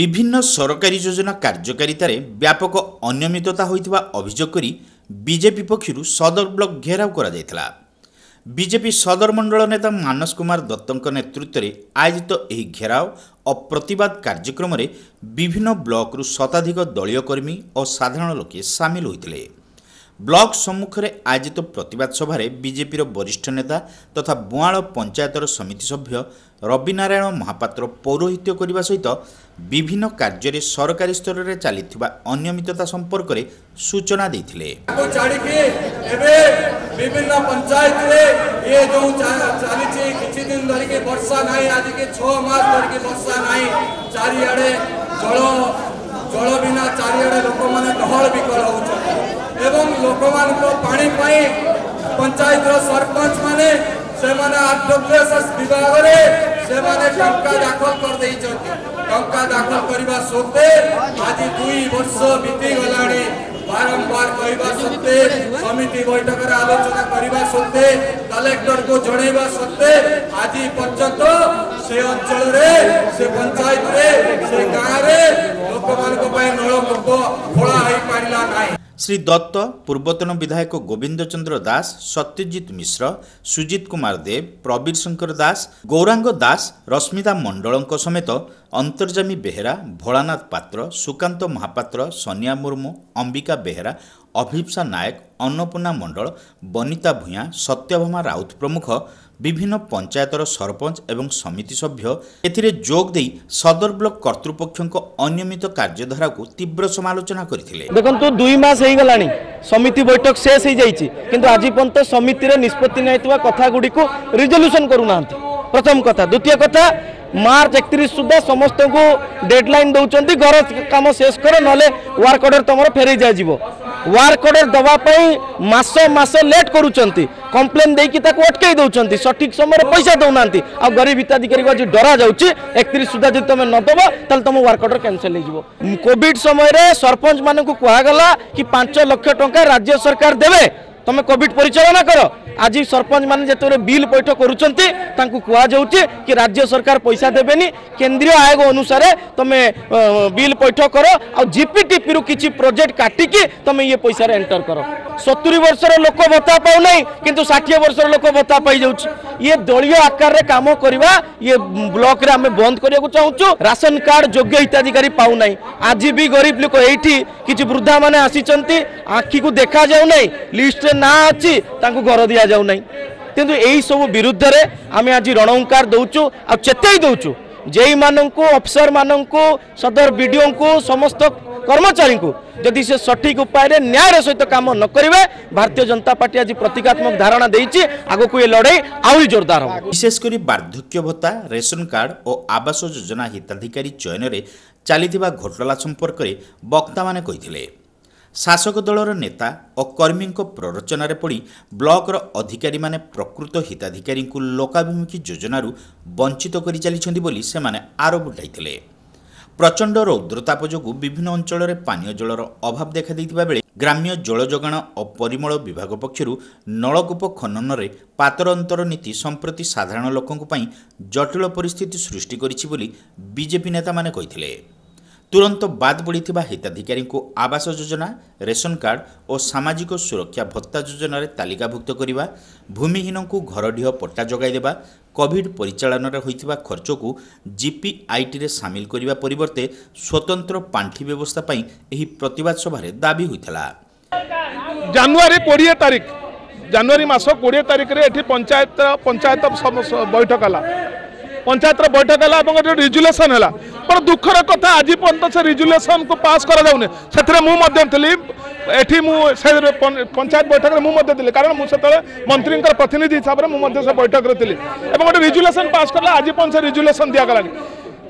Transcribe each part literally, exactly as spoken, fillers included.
ବିଭିନ୍ନ ସରକାରୀ ଯୋଜନା କାର୍ଯ୍ୟକାରିତାରେ ବ୍ୟାପକ ଅନିୟମିତତା ହୋଇଥିବା ଅଭିଯୋଗ କରି ବିଜେପି ପକ୍ଷରୁ ସଦର ବ୍ଲକ ଘେରାଉ କରାଯାଇଥିଲା। ବିଜେପି ସଦର ମଣ୍ଡଳ ନେତା ମାନସ କୁମାର ଦତ୍ତଙ୍କ ନେତୃତ୍ୱରେ ଆୟୋଜିତ ଏହି ଘେରାଉ ଓ ପ୍ରତିବାଦ କାର୍ଯ୍ୟକ୍ରମରେ ବିଭିନ୍ନ ବ୍ଲକରୁ ଶତାଧିକ ଦଳୀୟ କର୍ମୀ ଓ ସାଧାରଣ ଲୋକେ ସାମିଲ ହୋଇଥିଲେ। ବ୍ଲକ ସମ୍ମୁଖରେ ଆୟୋଜିତ ପ୍ରତିବାଦ ସଭାରେ ବିଜେପିର ବରିଷ୍ଠ ନେତା ତଥା ବୁଆଁଳ ପଞ୍ଚାୟତର ସମିତି ସଭ୍ୟ ରବିନାରାୟଣ ମହାପାତ୍ର ପୌରୋହିତ୍ୟ କରିବା ସହିତ ବିଭିନ୍ନ କାର୍ଯ୍ୟରେ ସରକାରୀ ସ୍ତରରେ ଚାଲିଥିବା ଅନିୟମିତତା ସମ୍ପର୍କରେ ସୂଚନା ଦେଇଥିଲେ। ତାକୁ ଛାଡ଼ିକି ଏବେ ବିଭିନ୍ନ ପଞ୍ଚାୟତରେ ଇଏ ଯୋଉ ଚାଲିଛି, କିଛି ଦିନ ଧରିକି ବର୍ଷା ନାହିଁ, ଆଜିକି ଛଅ ମାସ ଧରିକି ବର୍ଷା ନାହିଁ, ଚାରିଆଡ଼େ ଜଳ ଜଳ ବିନା ଚାରିଆଡ଼େ ଲୋକମାନେ ଡହଳ ବିକଳ ହେଉଛନ୍ତି ଏବଂ ଲୋକମାନଙ୍କ ପାଣି ପାଇଁ ପଞ୍ଚାୟତର ସରପଞ୍ଚ ମାନେ ସେମାନେ ଆରଡବ୍ଲ୍ୟୁଏସ୍ଏସ୍ ବିଭାଗରେ ସେମାନେ ଟଙ୍କା ଦାଖଲ କରିଦେଇଛନ୍ତି। ଟଙ୍କା ଦାଖଲ କରିବା ସତ୍ତ୍ୱେ ଆଜି ଦୁଇ ବର୍ଷ ବିତିଗଲାଣି। ବାରମ୍ବାର କହିବା ସତ୍ତ୍ୱେ, ସମିତି ବୈଠକରେ ଆଲୋଚନା କରିବା ସତ୍ତ୍ୱେ, କଲେକ୍ଟରକୁ ଜଣେଇବା ସତ୍ତ୍ୱେ ଆଜି ପର୍ଯ୍ୟନ୍ତ ସେ ଅଞ୍ଚଳରେ, ସେ ପଞ୍ଚାୟତରେ, ସେ ଗାଁରେ ଲୋକମାନଙ୍କ ପାଇଁ ନଳକୂପ ଖୋଳା ହେଇପାରିଲା ନାହିଁ। ଶ୍ରୀ ଦତ୍ତ, ପୂର୍ବତନ ବିଧାୟକ ଗୋବିନ୍ଦ ଚନ୍ଦ୍ର ଦାସ, ସତ୍ୟଜିତ ମିଶ୍ର, ସୁଜିତ କୁମାର ଦେବ, ପ୍ରବୀର ଶଙ୍କର ଦାସ, ଗୌରାଙ୍ଗ ଦାସ, ରଶ୍ମିତା ମଣ୍ଡଳଙ୍କ ସମେତ ଅନ୍ତର୍ଜାମୀ ବେହେରା, ଭୋଳାନାଥ ପାତ୍ର, ସୁକାନ୍ତ ମହାପାତ୍ର, ସନିଆ ମୁର୍ମୁ, ଅମ୍ବିକା ବେହେରା, ଅଭିପ୍ସା ନାୟକ, ଅନ୍ନପୂର୍ଣ୍ଣା ମଣ୍ଡଳ, ବନିତା ଭୂୟାଁ, ସତ୍ୟଭାମା ରାଉତ ପ୍ରମୁଖ ବିଭିନ୍ନ ପଞ୍ଚାୟତର ସରପଞ୍ଚ ଏବଂ ସମିତି ସଭ୍ୟ ଏଥିରେ ଯୋଗ ଦେଇ ସଦର ବ୍ଲକ କର୍ତ୍ତୃପକ୍ଷଙ୍କ ଅନିୟମିତ କାର୍ଯ୍ୟଧାରାକୁ ତୀବ୍ର ସମାଲୋଚନା କରିଥିଲେ। ଦେଖନ୍ତୁ, ଦୁଇ ମାସ ହେଇଗଲାଣି, ସମିତି ବୈଠକ ଶେଷ ହେଇଯାଇଛି, କିନ୍ତୁ ଆଜି ପର୍ଯ୍ୟନ୍ତ ସମିତିରେ ନିଷ୍ପତ୍ତି ନେଇଥିବା କଥା ଗୁଡ଼ିକୁ ରିଜଲ୍ୟୁସନ୍ କରୁନାହାନ୍ତି। ପ୍ରଥମ କଥା। ଦ୍ୱିତୀୟ କଥା, ମାର୍ଚ୍ଚ ଏକତିରିଶ ସୁଦ୍ଧା ସମସ୍ତଙ୍କୁ ଡେଡଲାଇନ୍ ଦେଉଛନ୍ତି, ଘର କାମ ଶେଷ କର, ନହେଲେ ୱାର୍କ ଅର୍ଡର ତୁମର ଫେରେଇ ଦିଆଯିବ। ୱାର୍କ ଅର୍ଡର ଦେବା ପାଇଁ ମାସ ମାସ ଲେଟ୍ କରୁଛନ୍ତି, କମ୍ପ୍ଲେନ୍ ଦେଇକି ତାକୁ ଅଟକେଇ ଦେଉଛନ୍ତି, ସଠିକ୍ ସମୟରେ ପଇସା ଦେଉନାହାନ୍ତି। ଆଉ ଗରିବ ହିତାଧିକାରୀକୁ ଆଜି ଡରା ଯାଉଛି, ଏକତିରିଶ ସୁଦ୍ଧା ଯଦି ତୁମେ ନ ଦେବ ତାହେଲେ ତୁମ ୱାର୍କ ଅର୍ଡର କ୍ୟାନସେଲ୍ ହେଇଯିବ। କୋଭିଡ ସମୟରେ ସରପଞ୍ଚ ମାନଙ୍କୁ କୁହାଗଲା କି ପାଞ୍ଚ ଲକ୍ଷ ଟଙ୍କା ରାଜ୍ୟ ସରକାର ଦେବେ, ତମେ କୋଭିଡ ପରିଚାଳନା କର। ଆଜି ସରପଞ୍ଚ ମାନେ ଯେତେବେଳେ ବିଲ୍ ପୈଠ କରୁଛନ୍ତି, ତାଙ୍କୁ କୁହାଯାଉଛି କି ରାଜ୍ୟ ସରକାର ପଇସା ଦେବେନି, କେନ୍ଦ୍ରୀୟ ଆୟୋଗ ଅନୁସାରେ ତମେ ବିଲ୍ ପୈଠ କର ଆଉ ଜିପିଟିପିରୁ କିଛି ପ୍ରୋଜେକ୍ଟ କାଟିକି ତମେ ଇଏ ପଇସାରେ ଏଣ୍ଟର କର। ସତୁରି ବର୍ଷର ଲୋକ ଭତ୍ତା ପାଉନାହିଁ, କିନ୍ତୁ ଷାଠିଏ ବର୍ଷର ଲୋକ ଭତ୍ତା ପାଇଯାଉଛି। ଇଏ ଦଳୀୟ ଆକାରରେ କାମ କରିବା ଇଏ ବ୍ଲକରେ ଆମେ ବନ୍ଦ କରିବାକୁ ଚାହୁଁଛୁ। ରାସନ କାର୍ଡ ଯୋଗ୍ୟ ହିତାଧିକାରୀ ପାଉନାହିଁ। ଆଜି ବି ଗରିବ ଲୋକ, ଏଇଠି କିଛି ବୃଦ୍ଧା ମାନେ ଆସିଛନ୍ତି, ଆଖିକୁ ଦେଖାଯାଉନାହିଁ, ଲିଷ୍ଟରେ ନାଁ ଅଛି, ତାଙ୍କୁ ଘର ଦିଆଯାଉ ନାହିଁ। କିନ୍ତୁ ଏଇସବୁ ବିରୁଦ୍ଧରେ ଆମେ ଆଜି ରଣହୁଙ୍କାର ଦେଉଛୁ ଆଉ ଚେତାଇ ଦେଉଛୁ ଯେଇମାନଙ୍କୁ, ଅଫିସର ମାନଙ୍କୁ, ସଦର ବିଡ଼ିଓଙ୍କୁ, ସମସ୍ତ କର୍ମଚାରୀଙ୍କୁ, ଯଦି ସେ ସଠିକ ଉପାୟରେ ନ୍ୟାୟର ସହିତ କାମ ନ କରିବେ, ଭାରତୀୟ ଜନତା ପାର୍ଟି ଆଜି ପ୍ରତୀକାତ୍ମକ ଧାରଣା ଦେଇଛି, ଆଗକୁ ଏ ଲଢ଼େଇ ଆହୁରି ଜୋରଦାର ହେବ। ବିଶେଷ କରି ବାର୍ଦ୍ଧକ୍ୟ ଭତ୍ତା, ରେସନ କାର୍ଡ ଓ ଆବାସ ଯୋଜନା ହିତାଧିକାରୀ ଚୟନରେ ଚାଲିଥିବା ଘୋଟାଲା ସମ୍ପର୍କରେ ବକ୍ତାମାନେ କହିଥିଲେ। ଶାସକ ଦଳର ନେତା ଓ କର୍ମୀଙ୍କ ପ୍ରରୋଚନାରେ ପଡ଼ି ବ୍ଲକର ଅଧିକାରୀମାନେ ପ୍ରକୃତ ହିତାଧିକାରୀଙ୍କୁ ଲୋକାଭିମୁଖୀ ଯୋଜନାରୁ ବଞ୍ଚିତ କରି ଚାଲିଛନ୍ତି ବୋଲି ସେମାନେ ଆରୋପ ଉଠାଇଥିଲେ। ପ୍ରଚଣ୍ଡ ରୌଦ୍ରତାପ ଯୋଗୁଁ ବିଭିନ୍ନ ଅଞ୍ଚଳରେ ପାନୀୟ ଜଳର ଅଭାବ ଦେଖାଦେଇଥିବା ବେଳେ ଗ୍ରାମ୍ୟ ଜଳ ଯୋଗାଣ ଓ ପରିମଳ ବିଭାଗ ପକ୍ଷରୁ ନଳକୂପ ଖନନରେ ପାତର ଅନ୍ତର ନୀତି ସମ୍ପ୍ରତି ସାଧାରଣ ଲୋକଙ୍କ ପାଇଁ ଜଟିଳ ପରିସ୍ଥିତି ସୃଷ୍ଟି କରିଛି ବୋଲି ବିଜେପି ନେତାମାନେ କହିଥିଲେ। ତୁରନ୍ତ ବାଦ୍ ପଡ଼ିଥିବା ହିତାଧିକାରୀଙ୍କୁ ଆବାସ ଯୋଜନା, ରେସନ କାର୍ଡ ଓ ସାମାଜିକ ସୁରକ୍ଷା ଭତ୍ତା ଯୋଜନାରେ ତାଲିକାଭୁକ୍ତ କରିବା, ଭୂମିହୀନଙ୍କୁ ଘରଡିହ ପଟ୍ଟା ଯୋଗାଇ ଦେବା, କୋଭିଡ ପରିଚାଳନାରେ ହୋଇଥିବା ଖର୍ଚ୍ଚକୁ ଜିପିଆଇଟିରେ ସାମିଲ କରିବା ପରିବର୍ତ୍ତେ ସ୍ୱତନ୍ତ୍ର ପାଣ୍ଠି ବ୍ୟବସ୍ଥା ପାଇଁ ଏହି ପ୍ରତିବାଦ ସଭାରେ ଦାବି ହୋଇଥିଲା। ଜାନୁଆରୀ କୋଡ଼ିଏ ତାରିଖ, ଜାନୁଆରୀ ମାସ କୋଡ଼ିଏ ତାରିଖରେ ଏଠି ପଞ୍ଚାୟତ ପଞ୍ଚାୟତ ବୈଠକ ହେଲା, ପଞ୍ଚାୟତର ବୈଠକ ହେଲା ଏବଂ ଏଠି ରିଜୁଲେସନ୍ ହେଲା। ବଡ଼ ଦୁଃଖର କଥା, ଆଜି ପର୍ଯ୍ୟନ୍ତ ସେ ରିଜୁଲେସନ୍କୁ ପାସ୍ କରାଯାଉନି। ସେଥିରେ ମୁଁ ମଧ୍ୟ ଥିଲି ଏଠି, ମୁଁ ସେ ପଞ୍ଚାୟତ ବୈଠକରେ ମୁଁ ମଧ୍ୟ ଥିଲି, କାରଣ ମୁଁ ସେତେବେଳେ ମନ୍ତ୍ରୀଙ୍କର ପ୍ରତିନିଧି ହିସାବରେ ମୁଁ ମଧ୍ୟ ସେ ବୈଠକରେ ଥିଲି ଏବଂ ଗୋଟେ ରିଜୁଲେସନ୍ ପାସ୍ କଲା। ଆଜି ପର୍ଯ୍ୟନ୍ତ ସେ ରିଜୁଲେସନ୍ ଦିଆଗଲାନି।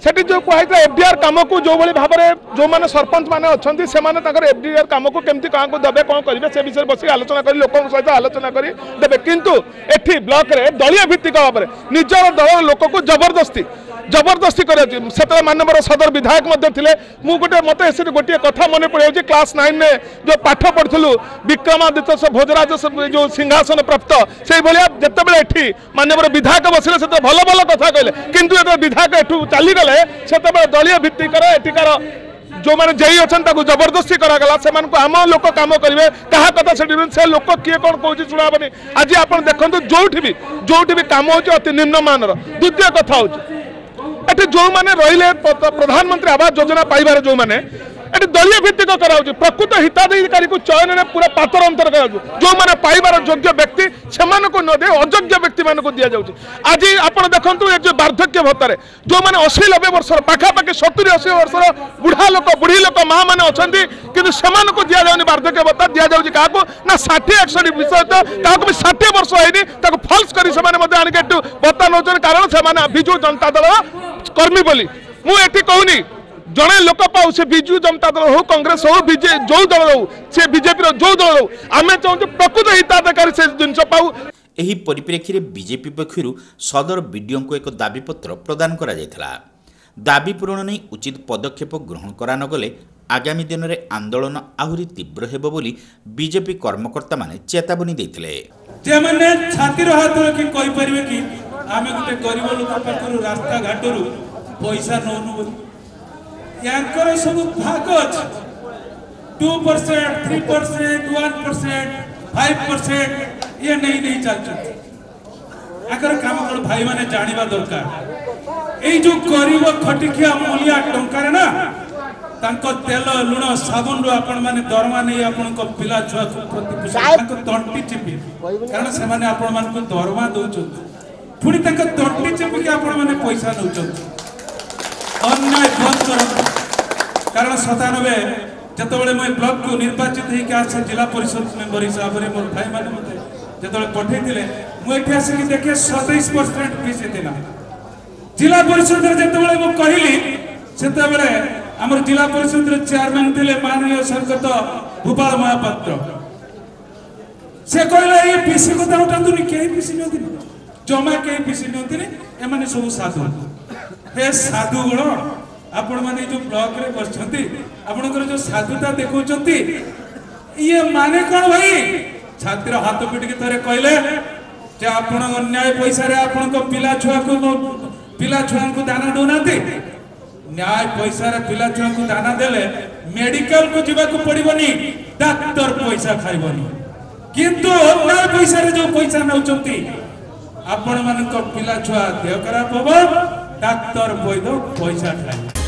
ସେଠି ଯେଉଁ କୁହାଯାଇଥିଲା, ଏଫଡିଆର କାମକୁ ଯେଉଁଭଳି ଭାବରେ ଯେଉଁମାନେ ସରପଞ୍ଚ ମାନେ ଅଛନ୍ତି, ସେମାନେ ତାଙ୍କର ଏଫଡିଆର କାମକୁ କେମିତି କାହାକୁ ଦେବେ, କ'ଣ କରିବେ, ସେ ବିଷୟରେ ବସିକି ଆଲୋଚନା କରି, ଲୋକଙ୍କ ସହିତ ଆଲୋଚନା କରି ଦେବେ। କିନ୍ତୁ ଏଠି ବ୍ଲକରେ ଦଳୀୟ ଭିତ୍ତିକ ଭାବରେ ନିଜର ଦଳର ଲୋକକୁ ଜବରଦସ୍ତି ଜବରଦସ୍ତି କରାଯାଉଛି। ସେତେବେଳେ ମାନ୍ୟବର ସଦର ବିଧାୟକ ମଧ୍ୟ ଥିଲେ। ମୁଁ ଗୋଟେ, ମୋତେ ସେଠି ଗୋଟିଏ କଥା ମନେ ପଡ଼ିଯାଉଛି, କ୍ଲାସ୍ ନାଇନରେ ଯେଉଁ ପାଠ ପଢ଼ିଥିଲୁ, ବିକ୍ରମାଦିତ୍ୟ ଭୋଜରାଜ ଯେଉଁ ସିଂହାସନ ପ୍ରାପ୍ତ, ସେଇଭଳିଆ ଯେତେବେଳେ ଏଠି ମାନ୍ୟବର ବିଧାୟକ ବସିଲେ, ସେତେବେଳେ ଭଲ ଭଲ କଥା କହିଲେ, କିନ୍ତୁ ଯେତେବେଳେ ବିଧାୟକ ଏଠୁ ଚାଲିଗଲେ ଯେତେବେଳେ ସେତେବେଳେ ଦଳୀୟ ଭିତ୍ତିକର ଏଠିକାର ଯେଉଁମାନେ ଜେଇ ଅଛନ୍ତି ତାକୁ ଜବରଦସ୍ତି କରାଗଲା। ସେମାନଙ୍କୁ ଆମ ଲୋକ କାମ କରିବେ, କାହା କଥା ସେଠି ସେ ଲୋକ କିଏ କ'ଣ କହୁଛି ଶୁଣା ହେବନି। ଆଜି ଆପଣ ଦେଖନ୍ତୁ ଯୋଉଠି ବି ଯୋଉଠି ବି କାମ ହେଉଛି ଅତି ନିମ୍ନମାନର। ଦ୍ୱିତୀୟ କଥା ହେଉଛି ଏଠି ଯେଉଁମାନେ ରହିଲେ ପ୍ରଧାନମନ୍ତ୍ରୀ ଆବାସ ଯୋଜନା ପାଇବାର ଯେଉଁମାନେ ଏଠି ଦଳୀୟ ଭିତ୍ତିକ କରାଯାଉଛି, ପ୍ରକୃତ ହିତାଧିକାରୀକୁ ଚୟନରେ ପୁରା ପାତର ଅନ୍ତର କରାଯାଉଛି। ଯେଉଁମାନେ ପାଇବାର ଯୋଗ୍ୟ ବ୍ୟକ୍ତି ସେମାନଙ୍କୁ ନ ଦେଇ ଅଯୋଗ୍ୟ ବ୍ୟକ୍ତିମାନଙ୍କୁ ଦିଆଯାଉଛି। ଆଜି ଆପଣ ଦେଖନ୍ତୁ ଏ ଯେଉଁ ବାର୍ଦ୍ଧକ୍ୟ ଭତ୍ତାରେ ଯେଉଁମାନେ ଅଶୀ ନବେ ବର୍ଷର ପାଖାପାଖି ସତୁରି ଅଶୀ ବର୍ଷର ବୁଢ଼ା ଲୋକ ବୁଢ଼ୀ ଲୋକ ମା ମାନେ ଅଛନ୍ତି, କିନ୍ତୁ ସେମାନଙ୍କୁ ଦିଆଯାଉନି ବାର୍ଦ୍ଧକ୍ୟ ଭତ୍ତା। ଦିଆଯାଉଛି କାହାକୁ ନା ଷାଠିଏ ଏକଷଠି ବିଷୟ ତ କାହାକୁ ବି ଷାଠିଏ ବର୍ଷ ହେଇନି, ତାକୁ ଫଲ୍ସ କରି ସେମାନେ ମଧ୍ୟ ଆଣିକି ଏଠୁ ଭତ୍ତା ନେଉଛନ୍ତି, କାରଣ ସେମାନେ ବିଜୁ ଜନତା ଦଳର କର୍ମୀ ବୋଲି। ମୁଁ ଏଠି କହୁନି ଜଣେ ଲୋକ ପାଉ, ସେ ବିଜୁ ଜନତା ଦଳ ହଉ, କଂଗ୍ରେସ ହଉ, ବିଜେ ଯୋଉ ଦଳ ହଉ, ସେ ବିଜେପିର ଯୋଉ ଦଳ ହଉ, ଆମେ ଚାହୁଁଛୁ ପ୍ରକୃତ ହିତାଧିକାରୀ ସେ ଜିନିଷ ପାଉ। ଏହି ପରିପ୍ରେକ୍ଷୀରେ ବିଜେପି ପକ୍ଷରୁ ସଦର ବିଡିଓଙ୍କୁ ଏକ ଦାବିପତ୍ର ପ୍ରଦାନ କରାଯାଇଥିଲା। ଦାବି ପୂରଣ ନେଇ ଉଚିତ ପଦକ୍ଷେପ ଗ୍ରହଣ କରାନଗଲେ ଆଗାମୀ ଦିନରେ ଆନ୍ଦୋଳନ ଆହୁରି ତୀବ୍ର ହେବ ବୋଲି ବିଜେପି କର୍ମକର୍ତ୍ତାମାନେ ଚେତାବନୀ ଦେଇଥିଲେ। ଯେମାନେ ଛାତିର ହାତ ରଖି କହିପାରିବେ କି ଆମେ ଗୋଟେ ଗରିବ ଲୋକ ପାଖରୁ ରାସ୍ତାଘାଟରୁ ପଇସା ନଉନୁ ବୋଲି, ୟାଙ୍କର ସବୁ ଭାଗ ଅଛି। Two percent, three percent, one percent, five percent ଇଏ ନେଇ ନେଇ ଚାଲିଛନ୍ତି। ୟାଙ୍କର କାମ କଣ ଭାଇମାନେ ଜାଣିବା ଦରକାର। ଏଇ ଯୋଉ ଗରିବ ଖଟିଖିଆ ମୂଲିଆ ଟଙ୍କାରେ ନା ତାଙ୍କ ତେଲ ଲୁଣ ସାବୁନରୁ ଆପଣମାନେ ଦରମା ନେଇ ଆପଣଙ୍କ ପିଲା ଛୁଆକୁ ପ୍ରତିପୋଷଣ, ତାଙ୍କ ତଣ୍ଟି ଚିପି, କାରଣ ସେମାନେ ଆପଣମାନଙ୍କୁ ଦରମା ଦଉଛନ୍ତି, ପୁଣି ତାଙ୍କ ତଣ୍ଟି ଚିପିକି ଆପଣମାନେ ପଇସା ନେଉଛନ୍ତି। ଅନ୍ୟାୟ ବନ୍ଦ କରନ୍ତୁ। କାରଣ ସତାନବେ ଯେତେବେଳେ ମୁଁ ଏ ବ୍ଲକକୁ ନିର୍ବାଚିତ ହେଇକି ଆସେ ଜିଲ୍ଲା ପରିଷଦ ମେମ୍ବର ହିସାବରେ, ମୋର ଭାଇମାନେ ମୋତେ ଯେତେବେଳେ ପଠେଇଥିଲେ, ମୁଁ ଏଠି ଆସିକି ଦେଖେ ସତେଇଶ ପରସେଣ୍ଟ ପିସି ଥିଲା। ଜିଲ୍ଲା ପରିଷଦରେ ଯେତେବେଳେ ମୁଁ କହିଲି, ସେତେବେଳେ ଆମର ଜିଲ୍ଲା ପରିଷଦର ଚେୟାରମ୍ୟାନ ଥିଲେ ମାନନୀୟ ସ୍ୱର୍ଗତ ଭୂପାଳ ମହାପାତ୍ର। ସେ କହିଲେ ଏଇ ପିସି କଥା ଉଠାନ୍ତୁନି, କେହି ପିସି ନିଅନ୍ତିନି, ଜମା କେହି ପିସି ନିଅନ୍ତିନି, ଏମାନେ ସବୁ ସାଧୁ। ହେ ସାଧୁ ଗୁଣ, ଆପଣମାନେ ଯୋଉ ବ୍ଲକରେ ବସିଛନ୍ତି, ଆପଣଙ୍କର ଯୋଉ ସାଧୁତା ଦେଖାଉଛନ୍ତି, ଇଏ ମାନେ କଣ ଭାଇ? ଛାତିର ହାତ ପିଟିକି ଥରେ କହିଲେ ଯେ ଆପଣ ଅନ୍ୟାୟ ପଇସାରେ ଆପଣଙ୍କ ପିଲା ଛୁଆକୁ ପିଲା ଛୁଆଙ୍କୁ ଦାନା ଦଉନାହାନ୍ତି। ନ୍ୟାୟ ପଇସାରେ ପିଲା ଛୁଆଙ୍କୁ ଦାନା ଦେଲେ ମେଡିକାଲକୁ ଯିବାକୁ ପଡିବନି, ଡାକ୍ତର ପଇସା ଖାଇବନି। କିନ୍ତୁ ଅନ୍ୟାୟ ପଇସାରେ ଯୋଉ ପଇସା ନେଉଛନ୍ତି, ଆପଣମାନଙ୍କ ପିଲା ଛୁଆ ଦେହ ଖରାପ ହବ, ଡାକ୍ତର ବୈଦ ପଇସା ଖାଇବ।